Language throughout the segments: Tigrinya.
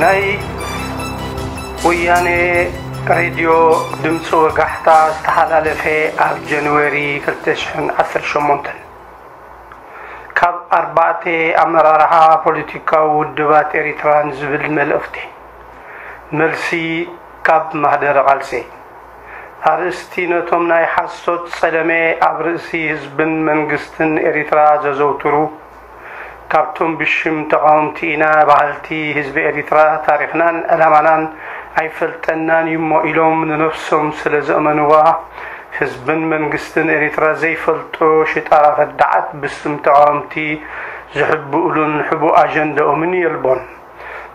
ናይ ወያኔ ሬድዮ ድምፂ ወጋሕታ ዝተሓላለፈ ኣብ ጃንዋሪ ክልተ ሽሕን ዓሰርተ ሸሞንተን ካብ ኣርባዕተ ኣመራርሓ ፖለቲካዊ ውድባት ኤሪትራ ንዝብል መልእኽቲ። መልሲ ካብ ማህደረ ቃልሲ። ኣርእስቲ ነቶም ናይ ሓሶት ጸለመ ኣብ ርእሲ ህዝብን መንግስትን ኤሪትራ ዘዘውትሩ፣ ካብቶም ብሽም ተቓወምቲ ኢና በሃልቲ ህዝቢ ኤሪትራ ታሪኽናን ዕላማናን ኣይፈልጠናን እዩሞ ኢሎም ንነፍሶም ስለ ዘእመንዋ፣ ህዝብን መንግስትን ኤሪትራ ዘይፈልጦ ሽጣራ ከዳዓት ብስም ተቓወምቲ ዝሕብኡሉን ሕቡእ ኣጀንዳኦምን የልቦን።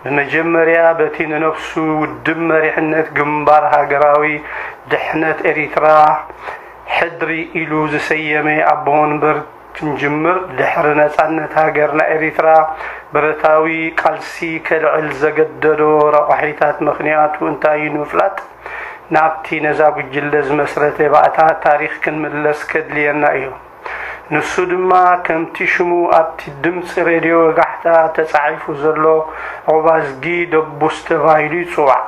ብመጀመርያ በቲ ንነፍሱ ውድብ መሪሕነት ግንባር ሃገራዊ ድሕነት ኤሪትራ ሕድሪ ኢሉ ዝሰየመ ኣቦ ወንበር ክንጅምር፣ ድሕሪ ነጻነት ሃገርና ኤሪትራ ብረታዊ ቃልሲ ከልዕል ዘገደዶ ረቋሒታት ምኽንያቱ እንታይ እዩ ንምፍላጥ፣ ናብቲ ነዛ ጉጅለ ዝመስረተ ባእታ ታሪኽ ክንምለስ ከድልየና እዩ። ንሱ ድማ ከምቲ ሽሙ ኣብቲ ድምፂ ሬድዮ ወጋሕታ ተጻሒፉ ዘሎ ዑባዝጊ ደቡስ ተባሂሉ ይጽዋዕ።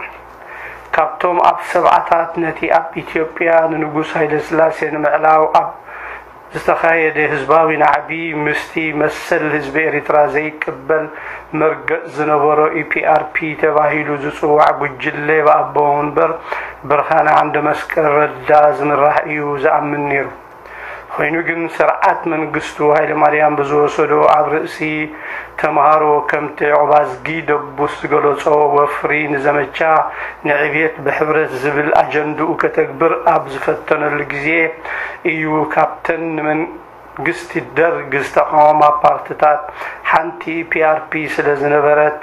ካብቶም ኣብ ሰብዓታት ነቲ ኣብ ኢትዮጵያ ንንጉስ ሃይለስላሴ ንምዕላው ኣብ ዝተኻየደ ህዝባዊ ናዕቢ ምስቲ መሰል ህዝቢ ኤሪትራ ዘይቅበል መርገጽ ዝነበሮ ኢፒኣርፒ ተባሂሉ ዝጽዋዕ ጉጅለ ብኣቦ ወንበር ብርሃነ ዓንደ መስቀል ረዳ ዝምራሕ እዩ ዝኣምን ነይሩ። ኮይኑ ግን ስርዓት መንግስቱ ሃይለማርያም ብዝወሰዶ ኣብ ርእሲ ተምሃሮ ከምቲ ዑባዝጊ ደቡስ ዝገለጾ ወፍሪ ንዘመቻ ንዕብየት ብሕብረት ዝብል ኣጀንድኡ ከተግብር ኣብ ዝፈተነሉ ግዜ እዩ ካብተን ንመንግስቲ ደርግ ዝተቃወማ ፓርትታት ሓንቲ ፒኣርፒ ስለ ዝነበረት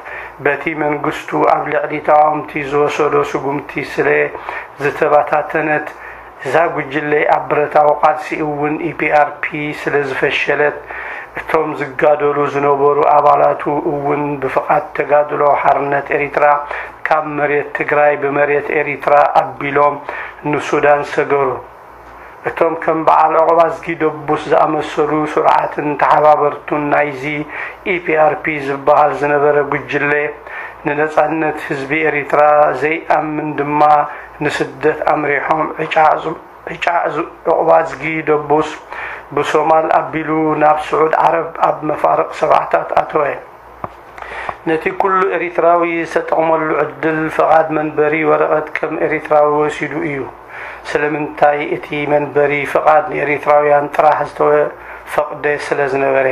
በቲ መንግስቱ ኣብ ልዕሊ ተቃወምቲ ዝወሰዶ ስጉምቲ ስለ ዝተበታተነት እዛ ጉጅለ ኣብ ብረታዊ ቃልሲ እውን ኢፒኣርፒ ስለ ዝፈሸለት፣ እቶም ዝጋደሉ ዝነበሩ ኣባላቱ እውን ብፍቓድ ተጋድሎ ሓርነት ኤሪትራ ካብ መሬት ትግራይ ብመሬት ኤሪትራ ኣቢሎም ንሱዳን ሰገሩ። እቶም ከም በዓል ዑቕባዝጊ ደቡስ ዝኣመሰሉ ስሩዓትን ተሓባበርቱን ናይዚ ኢፒኣርፒ ዝበሃል ዝነበረ ጉጅለ፣ ንነጻነት ህዝቢ ኤሪትራ ዘይኣምን ድማ ንስደት ኣምሪሖም። ዕጫ ዕዙ-፣ ዕጫ ዕዙ-፣ ዑቕባዝጊ ደቡስ ብሶማል ኣቢሉ ናብ ስዑድ ዓረብ ኣብ መፋርቕ ሰብዓታት ኣተወ። ነቲ ኩሉ ኤሪትራዊ ዝተጠቕመሉ ዕድል፣ ፍቓድ መንበሪ ወረቐት ከም ኤሪትራዊ ወሲዱ እዩ። ስለምንታይ? እቲ መንበሪ ፍቓድ ንኤሪትራውያን ጥራሕ ዝተፈቕደ ስለ ዝነበረ።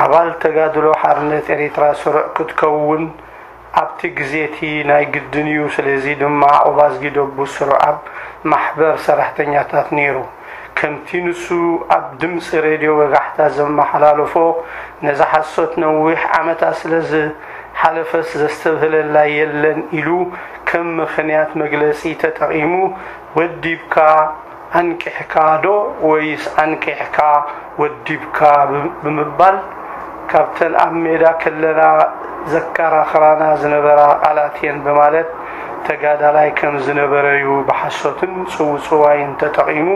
ኣባል ተጋድሎ ሓርነት ኤሪትራ ስሩዕ ክትከውን ኣብቲ ግዜ እቲ ናይ ግድን እዩ። ስለዚ ድማ ዑባዝጊ ደቡስ ስሩዕ ኣብ ማሕበር ሰራሕተኛታት ነይሩ። ከምቲ ንሱ ኣብ ድምጺ ሬድዮ ወጋሕታ ዘመሓላለፎ፣ ነዛ ሓሶት ነዊሕ ዓመታት ስለ ዝሓለፈስ ዘስተብህለላ የለን ኢሉ ከም ምኽንያት መግለጺ ተጠቒሙ፣ ወዲብካ ኣንቂሕካ ዶ ወይስ ኣንቂሕካ ወዲብካ ብ-፣ ብምባል ካብተን ኣብ ሜዳ ከለና ዘከራኽራና ዝነበራ ቃላት እየን በማለት ተጋዳላይ ከም ዝነበረ እዩ ብሓሶትን ጽውጽዋይን ተጠቒሙ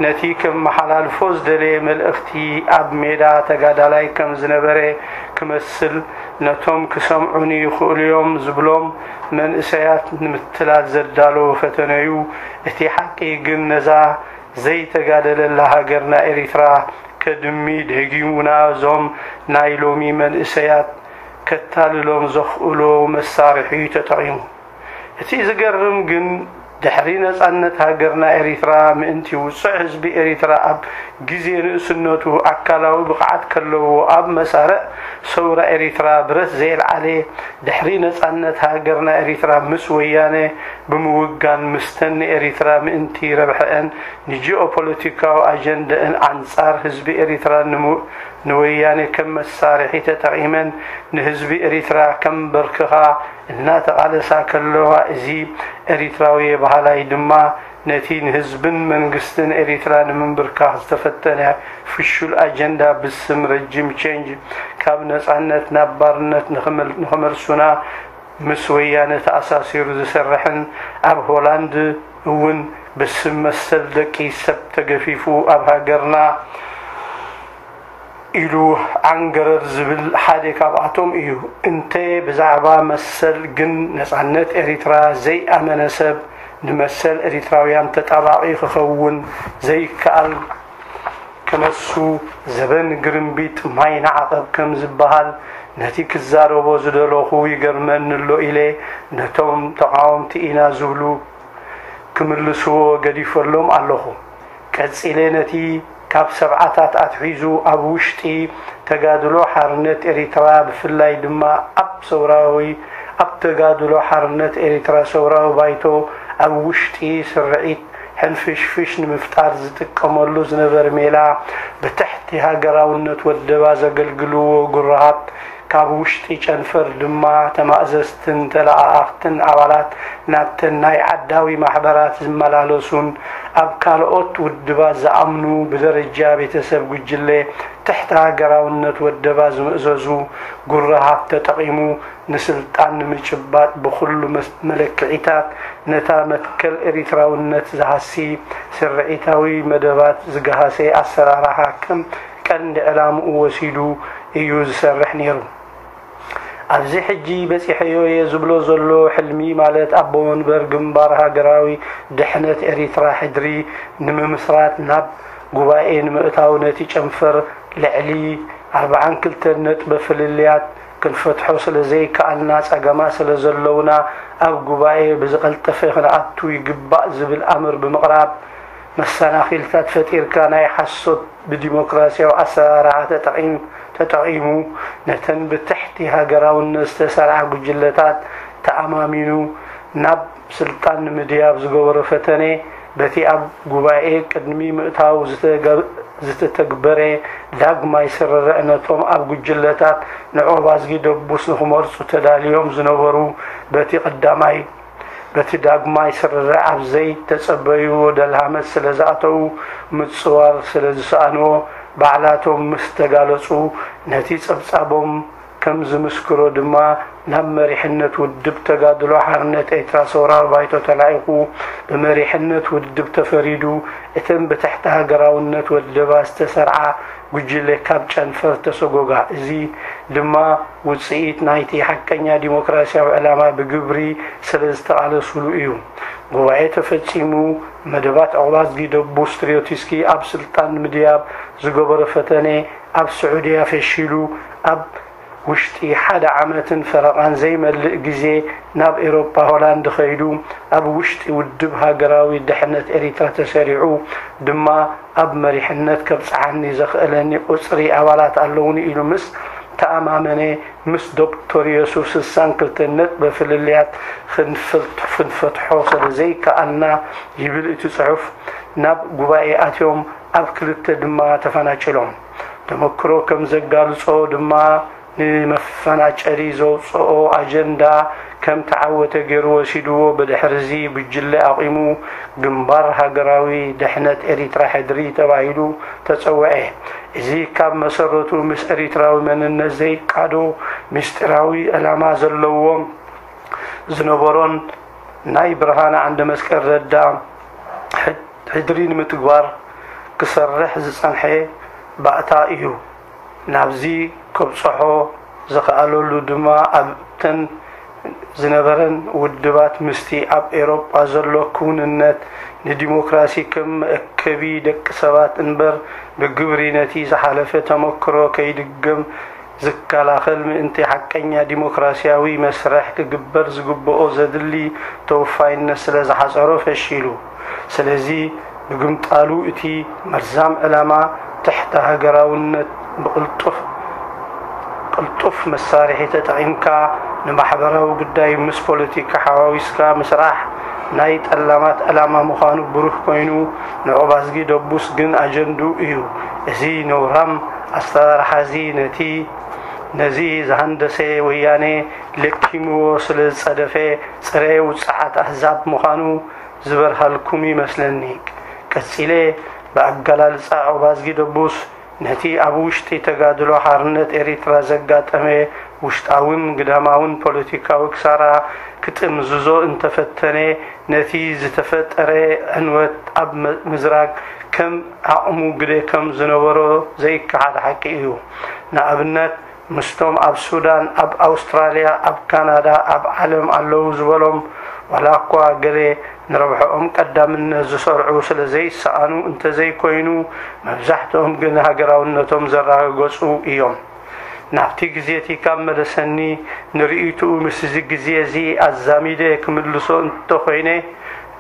ነቲ ከመሓላልፎ ዝደለየ መልእኽቲ ኣብ ሜዳ ተጋዳላይ ከም ዝነበረ ክመስል ነቶም ክሰምዑኒ ይኽእሉ እዮም ዝብሎም መንእሰያት ንምትላል ዘዳለዎ ፈተነ እዩ። እቲ ሓቂ ግን ነዛ ዘይተጋደለላ ሃገርና ኤሪትራ ከድሚ ደጊሙና እዞም ናይ ሎሚ መንእሰያት ከታልሎም ዘኽእሎ መሳርሒ እዩ ተጠቒሙ። እቲ ዝገርም ግን ድሕሪ ነጻነት ሃገርና ኤሪትራ ምእንቲ ውጹዕ ህዝቢ ኤሪትራ ኣብ ግዜ ንእስነቱ ኣካላዊ ብቕዓት ከለዎ ኣብ መሳርዕ ሰውራ ኤሪትራ ብረት ዘየልዓለ ድሕሪ ነጻነት ሃገርና ኤሪትራ ምስ ወያነ ብምውጋን ምስተን ንኤሪትራ ምእንቲ ረብሐአን ንጂኦፖለቲካዊ ኣጀንደአን ኣንጻር ህዝቢ ኤሪትራ ንሙ-፣ ንወያነ ከም መሳርሒ ተጠቒመን ንህዝቢ ኤሪትራ ከንበርክኻ እናተቓለሳ ከለዋ፣ እዚ ኤሪትራዊ በሃላይ ድማ ነቲ ንህዝብን መንግስትን ኤሪትራ ንምንብርካኽ ዝተፈተነ ፍሹል ኣጀንዳ ብስም ረጂም ቼንጅ ካብ ነጻነት ናብ ባርነት ንኽመል-፣ ንኽመልሱና ምስ ወያነ ተኣሳሲሩ ዝሰርሕን ኣብ ሆላንድ እውን ብስም መሰል ደቂ ሰብ ተገፊፉ ኣብ ሃገርና ኢሉ ዓንገረር ዝብል ሓደ ካብኣቶም እዩ። እንተ ብዛዕባ መሰል ግን ነጻነት ኤሪትራ ዘይኣመነ ሰብ ንመሰል ኤሪትራውያን ተጣባቒ ክኸውን ዘይከኣል ከነሱ ዘበን ግርምቢጥ ማይ ንዓቐብ ከም ዝበሃል ነቲ ክዛረቦ ዝደለኹ ይገርመኒ ኣሎ ኢለ ነቶም ተቓወምቲ ኢና ዝብሉ ክምልስዎ ገዲፈሎም ኣለኹ። ቀጺለ ነቲ ካብ ሰብዓታት ኣትሒዙ ኣብ ውሽጢ ተጋድሎ ሓርነት ኤሪትራ ብፍላይ ድማ ኣብ ሰውራዊ ኣብ ተጋድሎ ሓርነት ኤሪትራ ሰውራዊ ባይቶ ኣብ ውሽጢ ስርዒት ሕንፍሽፍሽ ንምፍጣር ዝጥቀመሉ ዝነበር ሜላ ብትሕቲ ሃገራውነት ወደባ ዘገልግልዎ ጉራሃት ካብ ውሽጢ ጨንፈር ድማ ተማእዘዝትን ተለኣኣኽትን ኣባላት ናብተን ናይ ዓዳዊ ማሕበራት ዝመላለሱን ኣብ ካልኦት ውድባት ዝኣምኑ ብደረጃ ቤተሰብ ጉጅለ ትሕቲ ሃገራውነት ወደባ ዝምእዘዙ ጉራሃት ተጠቒሙ ንስልጣን ንምጭባጥ ብኹሉ መለክዒታት ነታ መትከል ኤሪትራውነት ዝሃሲ ስርዒታዊ መደባት ዝገሃሰ ኣሰራርሓ ከም ቀንዲ ዕላምኡ ወሲዱ እዩ ዝሰርሕ ነይሩ። ኣብዚ ሕጂ በጺሐዮ እየ ዝብሎ ዘሎ ሕልሚ ማለት ኣቦ መንበር ግንባር ሃገራዊ ድሕነት ኤሪትራ ሕድሪ ንምምስራት ናብ ጉባኤ ንምእታው ነቲ ጨንፈር ልዕሊ ኣርብዓን ክልተን ነጥበ ፍልልያት ክንፈትሖ ስለ ዘይከኣልና ጸገማት ስለ ዘለውና ኣብ ጉባኤ ብዝቐልጠፈ ክንኣቱ ይግባእ ዝብል ኣምር ብምቕራብ መሰናኺልታት ፈጢርካ ናይ ሓሶት ብዲሞክራሲያዊ ኣሰራርሓ ተጠቒሙ ነተን ብትሕቲ ሃገራውነት ዝተሰርዓ ጉጅለታት ተኣማሚኑ ናብ ስልጣን ንምድያብ ዝገበሮ ፈተነ በቲ ኣብ ጉባኤ ቅድሚ ምእታው ዝተተግበረ ዳግማይ ስርርዕ ነቶም ኣብ ጉጅለታት ንኦባዝጊ ደቡስ ንክመርጹ ተዳልዮም ዝነበሩ በቲ ቀዳማይ በቲ ዳግማይ ስርርዕ ኣብ ዘይተጸበይዎ ደልሃመት ስለ ዝኣተዉ ምጽዋር ስለ ዝሰኣንዎ ባዕላቶም ምስ ተጋለጹ ነቲ ጸብጻቦም ከም ዝምስክሮ ድማ ናብ መሪሕነት ውድብ ተጋድሎ ሓርነት ኤርትራ ሰውራዊ ባይቶ ተላኢኹ ብመሪሕነት ውድብ ተፈሪዱ እተን ብትሕቲ ሃገራውነት ወደባ ዝተሰርዓ ጉጅለ ካብ ጨንፈር ተሰጎጋ። እዚ ድማ ውጽኢት ናይቲ ሓቀኛ ዲሞክራሲያዊ ዕላማ ብግብሪ ስለ ዝተቓለሱሉ እዩ። ጉባኤ ተፈጺሙ፣ መደባት ዑቕባዝጊ ደቡስ ትርዮቲስኪ ኣብ ስልጣን ንምድያብ ዝገበሮ ፈተነ ኣብ ስዑድያ ፈሺሉ፣ ኣብ ውሽጢ ሓደ ዓመትን ፈረቓን ዘይመልእ ግዜ ናብ ኤውሮጳ ሆላንድ ከይዱ፣ ኣብ ውሽጢ ውድብ ሃገራዊ ድሕነት ኤሪትራ ተሰሪዑ ድማ ኣብ መሪሕነት ከብጽሓኒ ዘኽእለኒ ቁጽሪ ኣባላት ኣለዉኒ ኢሉ ምስ ተኣማመነ፣ ምስ ዶክተር የሱፍ ስሳን ክልተን ነጥቢ ፍልልያት ክንፈትሖ ስለ ዘይከኣልና ይብል እቲ ጽሑፍ፣ ናብ ጉባኤ ኣትዮም ኣብ ክልተ ድማ ተፈናጭሎም። ተመክሮ ከም ዘጋልጾ ድማ ንመፈናጨሊ ዘውጽኦ ኣጀንዳ ከም ተዓወተ ገይሩ ወሲድዎ። ብድሕርዚ ጉጅለ ኣቑሙ ግንባር ሃገራዊ ድሕነት ኤሪትራ ሕድሪ ተባሂሉ ተጸውዐ። እዚ ካብ መሰረቱ ምስ ኤሪትራዊ መንነት ዘይቃዶ ምስጢራዊ ዕላማ ዘለዎም ዝነበሮን ናይ ብርሃነ ዓንደመስቀል ረዳ ሕድሪ ንምትግባር ክሰርሕ ዝጸንሐ ባእታ እዩ። ናብዚ ከብጽሖ ዝኸኣለሉ ድማ ኣብተን ዝነበረን ውድባት ምስቲ ኣብ ኤውሮጳ ዘሎ ክውንነት ንዲሞክራሲ ከም መእከቢ ደቂ ሰባት እምበር ብግብሪ ነቲ ዝሓለፈ ተመክሮ ከይድገም ዝከላኸል ምእንቲ ሓቀኛ ዲሞክራሲያዊ መስርሕ ክግበር ዝግብኦ ዘድሊ ተወፋይነት ስለ ዝሓጸሮ ፈሺሉ። ስለዚ ብግምጣሉ እቲ መርዛም ዕላማ ትሕተ ሃገራውነት ብቕልጡፍ ቅልጡፍ መሳርሒ ተጠቒምካ ንማሕበራዊ ጉዳይ ምስ ፖለቲካ ሓዋዊስካ ምስራሕ ናይ ጠላማት ዕላማ ምዃኑ ብሩህ ኮይኑ ንኦባዝጊ ደቡስ ግን ኣጀንድኡ እዩ። እዚ ነውራም ኣሰራርሓ እዚ ነቲ ነዚ ዝሃንደሰ ወያነ ለኪምዎ ስለ ዝጸደፈ ጽረ ውጽዓት ኣህዛብ ምዃኑ ዝበርሃልኩም ይመስለኒ። ቀጺለ ብኣገላልጻ ኦባዝጊ ደቡስ ነቲ ኣብ ውሽጢ ተጋድሎ ሓርነት ኤሪትራ ዘጋጠመ ውሽጣውን ግዳማውን ፖለቲካዊ ክሳራ ክጥምዝዞ እንተፈተነ፣ ነቲ ዝተፈጠረ ዕንወት ኣብ መ-፣ ምዝራግ ከም ዓቕሙ ግደ ከም ዝነበሮ ዘይከሓድ ሓቂ እዩ። ንኣብነት፣ ምስቶም ኣብ ሱዳን፣ ኣብ ኣውስትራልያ፣ ኣብ ካናዳ፣ ኣብ ዓለም ኣለዉ ዝበሎም፣ ዋላ እኳ ገለ ንረብሕኦም ቀዳምነት ዝሰርዑ ስለ ዘይሰኣኑ እንተዘይኮይኑ፣ መብዛሕትኦም ግን ሃገራውነቶም ዘረጋገጹ እዮም። ናብቲ ግዜ እቲ ካብ መለሰኒ፣ ንርእይትኡ ምስዚ ግዜ እዚ ኣዛሚደ ክምልሶ እንተኾይነ፣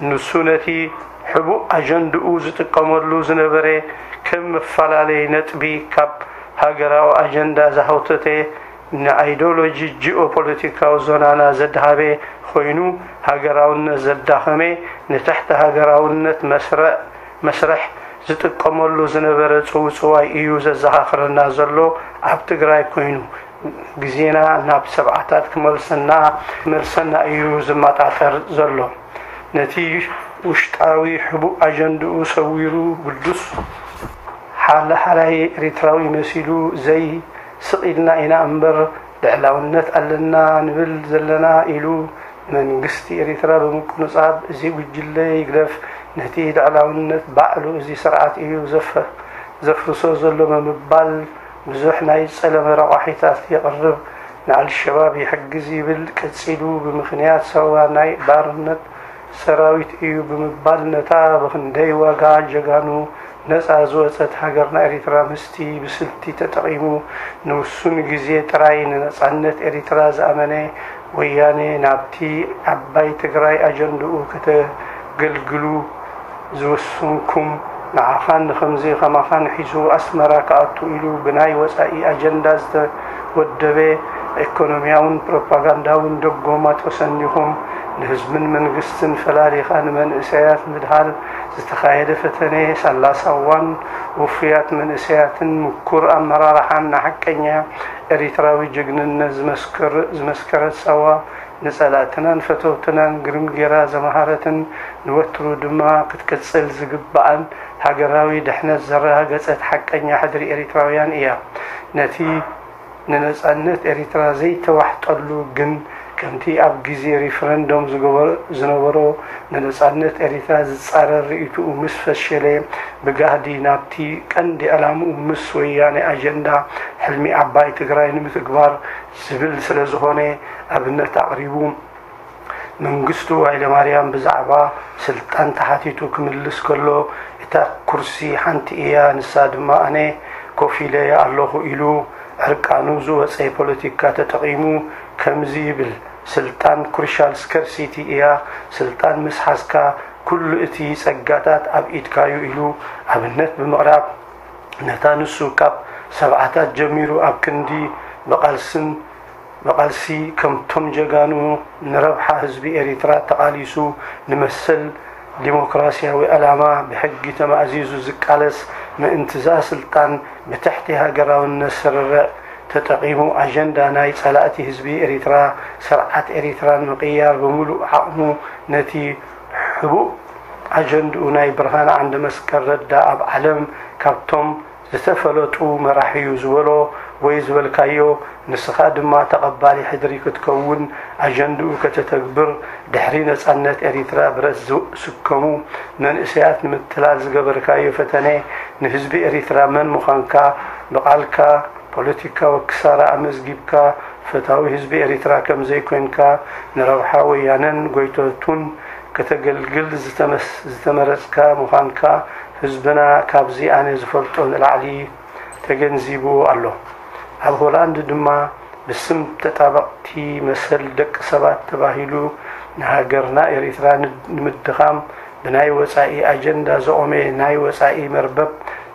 ንሱ ነቲ ሕቡእ ኣጀንድኡ ዝጥቀመሉ ዝነበረ ከም መፈላለይ ነጥቢ ካብ ሃገራዊ ኣጀንዳ ዝሃውተተ ንኣይዶሎጂ ጂኦፖለቲካዊ ዞናና ዘድሃበ ኮይኑ፣ ሃገራውነት ዘዳኸመ፣ ንትሕቲ ሃገራውነት መስርዕ መስርሕ ዝጥቀመሉ ዝነበረ ጽውጽዋይ እዩ ዘዘኻኽረና ዘሎ። ኣብ ትግራይ ኮይኑ ግዜና ናብ ሰብዓታት ክመልሰና ክመልሰና እዩ ዝመጣጠር ዘሎ። ነቲ ውሽጣዊ ሕቡእ ኣጀንድኡ ሰዊሩ ግዱስ ሓለ ሓላይ ኤሪትራዊ መሲሉ ዘይ ስቕ ኢልና ኢና እምበር ልዕላውነት ኣለና ንብል ዘለና ኢሉ መንግስቲ ኤሪትራ ብምቁንጻብ፣ እዚ ጉጅለ ይግደፍ፣ ነቲ ልዕላውነት ባዕሉ እዚ ስርዓት እዩ ዘፈ-፣ ዘፍርሶ ዘሎ ብምባል ብዙሕ ናይ ጸለመ ረቋሒታት የቕርብ። ንኣልሸባብ ይሕግዝ ይብል፣ ቀጺሉ ብምኽንያት ሳዋ ናይ ባርነት ሰራዊት እዩ ብምባል ነታ ብኽንደይ ዋጋ ጀጋኑ ነጻ ዝወጸት ሃገርና ኤሪትራ ምስቲ ብስልቲ ተጠቒሙ ንውሱን ግዜ ጥራይ ንነጻነት ኤሪትራ ዝኣመነ ወያኔ ናብቲ ዓባይ ትግራይ ኣጀንድኡ ከተገልግሉ ዝወሰንኩም ንዓኻን ንኸምዚ ከማኻን ሒዙ ኣስመራ ክኣቱ ኢሉ ብናይ ወጻኢ ኣጀንዳ ዝተወደበ ኢኮኖሚያውን ፕሮፓጋንዳውን ደጎማ ተሰኒኹም ንህዝብን መንግስትን ፈላሊኻ ንመንእሰያት ምድሃል ዝተኻየደ ፈተነ ሳላ ሳዋን ውፉያት መንእሰያትን ምኩር ኣመራርሓን ንሓቀኛ ኤሪትራዊ ጅግንነት ዝመስከር-፣ ዝመስከረት ሳዋ ንጸላእትናን ፈተውትናን ግርም ጌራ ዘምሃረትን ንወትሩ ድማ ክትቅጽል ዝግብኣን ሃገራዊ ድሕነት ዘረጋገጸት ሓቀኛ ሕድሪ ኤሪትራውያን እያ። ነቲ ንነጻነት ኤሪትራ ዘይተዋሕጠሉ ግን ከምቲ ኣብ ግዜ ሪፈረንዶም ዝገበ-፣ ዝነበሮ ንነጻነት ኤሪትራ ዝጻረር ርእይትኡ ምስ ፈሸለ ብጋህዲ ናብቲ ቀንዲ ዕላምኡ ምስ ወያኔ ኣጀንዳ ሕልሚ ዓባይ ትግራይ ንምትግባር ዝብል ስለ ዝኾነ ኣብነት ኣቕሪቡ። መንግስቱ ሃይለማርያም ብዛዕባ ስልጣን ተሓቲቱ ክምልስ ከሎ፣ "እታ ኩርሲ ሓንቲ እያ፣ ንሳ ድማ ኣነ ኮፍ ኢለያ ኣለኹ" ኢሉ ዕርቃኑ ዝወጸ ፖለቲካ ተጠቒሙ ከምዚ ይብል፣ "ስልጣን ክሩሻል ስከርሲቲ እያ፣ ስልጣን ምስ ሓዝካ ኩሉ እቲ ጸጋታት ኣብ ኢድካ'ዩ" ኢሉ ኣብነት ብምቕራብ፣ ነታ ንሱ ካብ ሰብዓታት ጀሚሩ ኣብ ክንዲ ብቓልስን ብቓልሲ ከምቶም ጀጋኑ ንረብሓ ህዝቢ ኤሪትራ ተቓሊሱ ንመሰል ዲሞክራስያዊ ዕላማ ብሕጊ ተማእዚዙ ዝቃለስ ምእንትዛ ስልጣን ብትሕቲ ሃገራውነት ስርርዕ ተጠቒሙ ኣጀንዳ ናይ ጸላእቲ ህዝቢ ኤሪትራ ስርዓት ኤሪትራ ንምቕያር ብምሉእ ዓቕሙ ነቲ ሕቡእ ኣጀንድኡ ናይ ብርሃነ ዓንደመስቀል ረዳ ኣብ ዓለም ካብቶም ዝተፈለጡ መራሒ'ዩ ዝበሎ ወይ ዝበልካዮ፣ ንስኻ ድማ ተቐባሊ ሕድሪ ክትከውን፣ ኣጀንድኡ ከተተግብር፣ ድሕሪ ነጻነት ኤሪትራ ብረት ዝስከሙ መንእሰያት ንምትላል ዝገበርካዮ ፈተነ፣ ንህዝቢ ኤሪትራ መን ምዃንካ ብቓልካ ፖለቲካዊ ክሳራ ኣመዝጊብካ፣ ፈታዊ ህዝቢ ኤሪትራ ከም ዘይኮንካ፣ ንረብሓ ወያነን ጎይቶቱን ከተገልግል ዝተመስ-፣ ዝተመረጽካ ምዃንካ ህዝብና ካብዚ ኣነ ዝፈልጦ ንላዕሊ ተገንዚብዎ ኣሎ። ኣብ ሆላንድ ድማ ብስም ተጣበቕቲ መሰል ደቂ ሰባት ተባሂሉ ንሃገርና ኤሪትራ ን-፣ ንምድኻም ብናይ ወጻኢ ኣጀንዳ ዝቖመ ናይ ወጻኢ መርበብ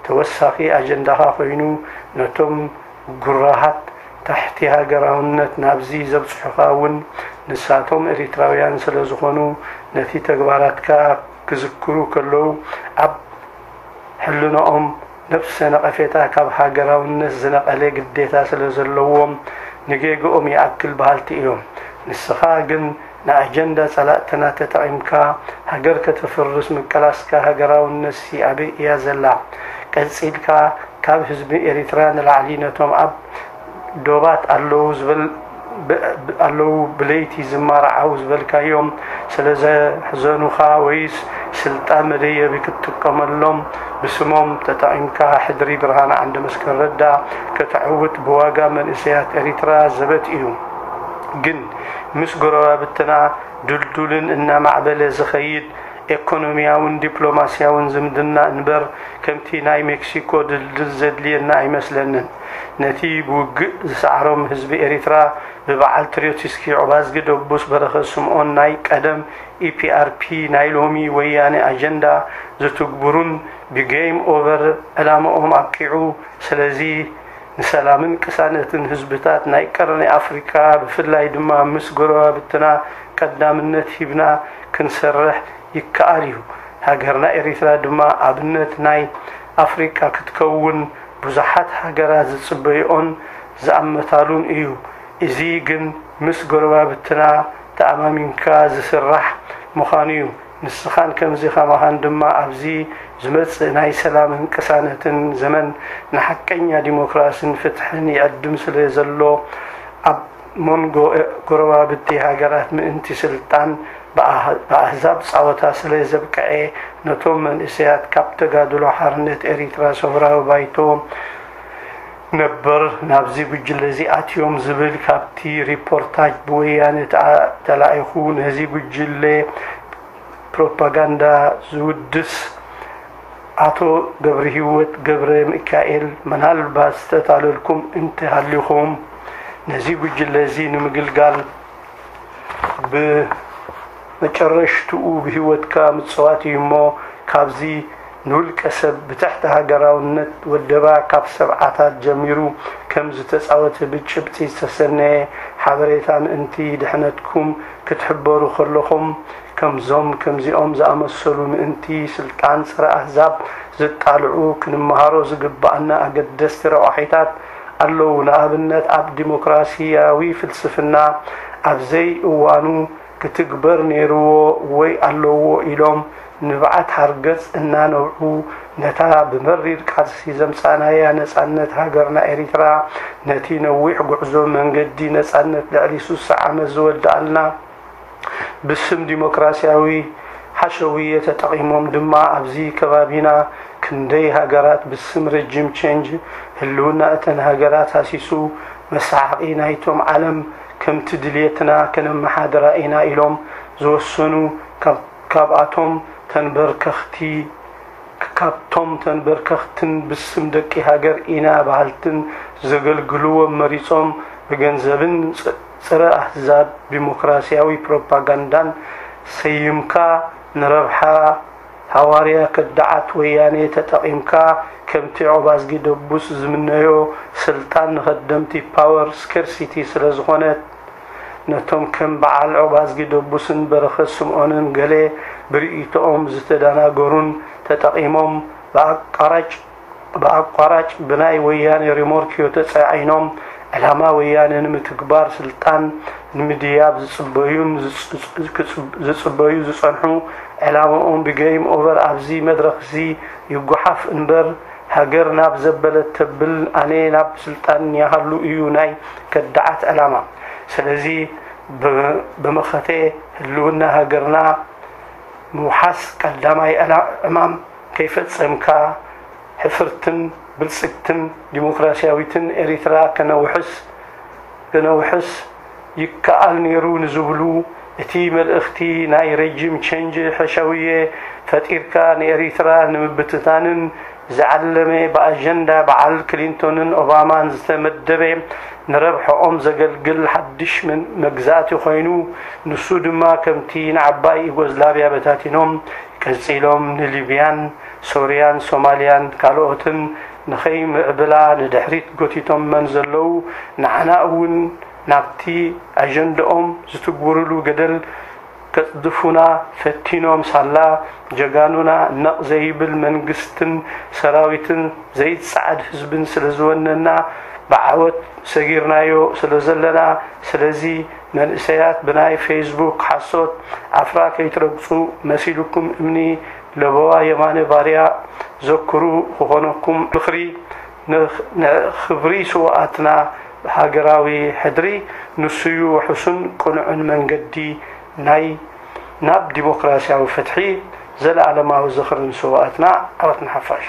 ተወሳኺ ኣጀንዳኻ ኮይኑ ነቶም ጉራሃት ታሕቲ ሃገራውነት ናብዚ ዘብጽሑኻ እውን ንሳቶም ኤሪትራውያን ስለ ዝኾኑ ነቲ ተግባራትካ ክዝክሩ ከለዉ ኣብ ሕልናኦም ነብሰ ነቐፌታ ካብ ሃገራውነት ዝነቐለ ግዴታ ስለ ዘለዎም ንጌግኦም ይኣክል በሃልቲ እዮም። ንስኻ ግን ንኣጀንዳ ጸላእትና ተጠቒምካ ሃገር ከተፍርስ ምቅላስካ ሃገራውነትሲ ኣበይ እያ ዘላ? ቀጺልካ ካብ ህዝቢ ኤሪትራ ንላዕሊ ነቶም ኣብ ዶባት ኣለዉ ዝበል-፣ ብ-፣ ብ-፣ ኣለዉ ብለይቲ ዝማርዓው ዝበልካዮም ስለ ዘሕዘኑኻ ወይስ ስልጣን መደየቢ ክትጥቀመሎም ብስሞም ተጠቒምካ ሕድሪ ብርሃነ ዓንደመስቀል ረዳ ከተዕውት ብዋጋ መንእሰያት ኤሪትራ ዘበት እዩ። ግን ምስ ጎረባብትና ድልዱልን እናማዕበለ ዝኸይድ ኤኮኖሚያውን ዲፕሎማስያውን ዝምድና እንበር ከምቲ ናይ ሜክሲኮ ድልድል ዘድልየና ኣይመስለንን። ነቲ ብውግእ ዝሰዓሮም ህዝቢ ኤሪትራ ብበዓል ትሮትስኪ ዑባዝጊ ደቡስ በረኸት ስምኦን ናይ ቀደም ኢፒኣርፒ ናይ ሎሚ ወያነ ኣጀንዳ ዝትግብሩን ብጌም ኦቨር ዕላምኦም ኣብቂዑ። ስለዚ ንሰላምን ቅሳነትን ህዝብታት ናይ ቀርኒ ኣፍሪቃ ብፍላይ ድማ ምስ ጎረባብትና ቀዳምነት ሂብና ክንሰርሕ ይከኣል እዩ። ሃገርና ኤሪትራ ድማ ኣብነት ናይ ኣፍሪቃ ክትከውን ብዙሓት ሃገራት ዝጽበይኦን ዝኣመታሉን እዩ። እዚ ግን ምስ ጎረባብትና ተኣማሚንካ ዝስራሕ ምዃኑ እዩ። ንስኻን ከምዚ ከማኻን ድማ ኣብዚ ዝመጽእ ናይ ሰላምን ቅሳነትን ዘመን ንሓቀኛ ዲሞክራስን ፍትሕን ይዕድም ስለ ዘሎ ኣብ መንጎ ጎረባብቲ ሃገራት ምእንቲ ስልጣን ብኣህ-፣ ብኣህዛብ ጻወታ ስለ ዘብቅዐ ነቶም መንእሰያት ካብ ተጋድሎ ሓርነት ኤሪትራ ሰውራዊ ባይቶ ነበር ናብዚ ጉጅለ እዚ ኣትዮም ዝብል ካብቲ ሪፖርታጅ ብወያነ ተኣ-፣ ተላኢኹ ነዚ ጉጅለ ፕሮፓጋንዳ ዝውድስ ኣቶ ገብረሂወት ገብረ ሚካኤል፣ ምናልባት ዝተታለልኩም እንተሃሊኹም፣ ነዚ ጉጅለ እዚ ንምግልጋል ብመጨረሽትኡ ብህይወትካ ምጽዋት እዩ እሞ፣ ካብዚ ንውልቀ ሰብ ብትሕቲ ሃገራውነት ወደባ ካብ ሰብዓታት ጀሚሩ ከም ዝተጻወተ ብጭብጢ ዝተሰነየ ሓበሬታ ምእንቲ ድሕነትኩም ክትሕበሩ ከለኹም፣ ከምዞም ከምዚኦም ዝኣመሰሉ ምእንቲ ስልጣን ጸረ ኣህዛብ ዘጣልዑ ክንመሃሮ ዝግብኣና ኣገደስቲ ረቋሒታት ኣለዉ። ንኣብነት፣ ኣብ ዲሞክራሲያዊ ፍልስፍና ኣብ ዘይእዋኑ ክትግበር ነይርዎ ወይ ኣለዎ ኢሎም ንብዓት ሓርገጽ እናነብዑ፣ ነታ ብመሪር ቃልሲ ዘምጻእናያ ነጻነት ሃገርና ኤሪትራ፣ ነቲ ነዊሕ ጉዕዞ መንገዲ ነጻነት ልዕሊ ሱሳ ዓመት ዝወድኣልና፣ ብስም ዲሞክራሲያዊ ሓሸውየ ተጠቒሞም ድማ ኣብዚ ከባቢና ክንደይ ሃገራት ብስም ረጂም ቼንጅ ህልውና እተን ሃገራት ሃሲሱ፣ መሳሓቒ ናይቶም ዓለም ከምቲ ድልየትና ከነመሓድራ ኢና ኢሎም ዝወሰኑ ካብ-፣ ካብኣቶም ተንበርከኽቲ፣ ካብቶም ተንበርከኽትን ብስም ደቂ ሃገር ኢና በሃልትን ዘገልግልዎም መሪጾም ብገንዘብን ጽ-፣ ጸረ ኣህዛብ ዲሞክራሲያዊ ፕሮፓጋንዳን ሰይምካ ንረብሓ ሃዋርያ ከዳዓት ወያኔ ተጠቒምካ ከምቲ ዑባዝጊ ደቡስ ዝምነዮ ስልጣን ንኸደምቲ ፓወር ስኬርሲቲ ስለ ዝኾነት፣ ነቶም ከም በዓል ዑባዝጊ ደቡስን በረኸት ስምኦንን ገለ ብርእይቶኦም ዝተደናገሩን ተጠቒሞም ብኣቋራጭ፣ ብኣቋራጭ ብናይ ወያኔ ሪሞርክዮ ተጻዒኖም ዕላማ ወያነ ንምትግባር ስልጣን ንምድያብ ዝጽበዩን ዝጽ-፣ ዝጽ-፣ ዝጽበዩ ዝጸንሑ፣ ዕላምኦም ብጌም ኦቨር ኣብዚ መድረኽዚ ይጓሓፍ እምበር፣ ሃገር ናብ ዘበለት ተብል፣ ኣነ ናብ ስልጣን ይሃሉ እዩ ናይ ከዳዓት ዕላማ። ስለዚ ብ-፣ ብመኸተ ህልውና ሃገርና ምውሓስ ቀዳማይ ዕላ-፣ ዕማም ከይፈጸምካ፣ ሕፍርትን ብልጽግትን ዲሞክራሲያዊትን ኤሪትራ ከነውሕስ፣ ከነውሕስ ይከኣል ነይሩ ንዝብሉ፣ እቲ መልእኽቲ ናይ ረጂም ቼንጅ ሕሸውየ ፈጢርካ ንኤሪትራ ንምብትታንን ዝዓለመ፣ ብኣጀንዳ በዓል ክሊንቶንን ኦባማን ዝተመደበ፣ ንረብሐኦም ዘገልግል ሓድሽ መን-፣ መግዛእቲ ኮይኑ፣ ንሱ ድማ ከምቲ ንዓባይ ዩጎዝላቭያ በታቲኖም፣ ቀጺሎም ንሊብያን ሶርያን ሶማልያን ካልኦትን ንኸይምዕብላ ንድሕሪት ጎቲቶመን ዘለዉ፣ ንዓና እውን ናብቲ ኣጀንዳኦም ዝትግብርሉ ገደል ከጽድፉና ፈቲኖም ሳላ፣ ጀጋኑና ነቕ ዘይብል መንግስትን ሰራዊትን ዘይጸዓድ ህዝብን ስለ ዝወነና፣ ብዓወት ሰጊርናዮ ስለ ዘለና፣ ስለዚ መንእሰያት ብናይ ፌስቡክ ሓሶት ዓፍራ ከይትረግጹ፣ መሲልኩም እምኒ ለበዋ የማነ ባርያ ዘክሩ ክኾነኩም ምኽሪ ንኽብሪ ስውኣትና ሃገራዊ ሕድሪ ንሱዩ ውሑስን ቅኑዕን መንገዲ ናይ ናብ ዲሞክራሲያዊ ፍትሒ። ዘለኣለማዊ ዝኽርን ስውኣትና። ዓወት ንሓፋሽ።